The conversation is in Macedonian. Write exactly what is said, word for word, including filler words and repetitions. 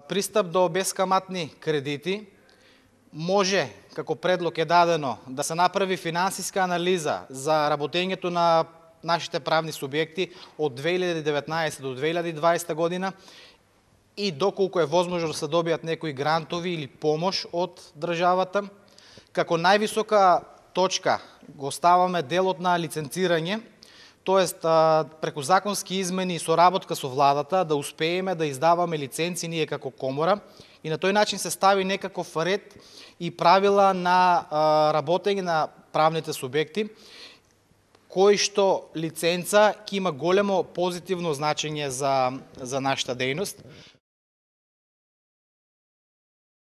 Пристап до бескаматни кредити може, како предлог е дадено, да се направи финансиска анализа за работењето на нашите правни субјекти од две илјади и деветнаесета до две илјади и дваесета година и доколку е возможно да се добијат некои грантови или помош од државата. Како највисока точка го ставаме делот на лиценцирање, тоест преку законски измени и соработка со владата да успееме да издаваме лиценци ние како комора и на тој начин се стави некаков ред и правила на работење на правните субјекти, кои што лиценца ќе има големо позитивно значење за, за нашата дејност.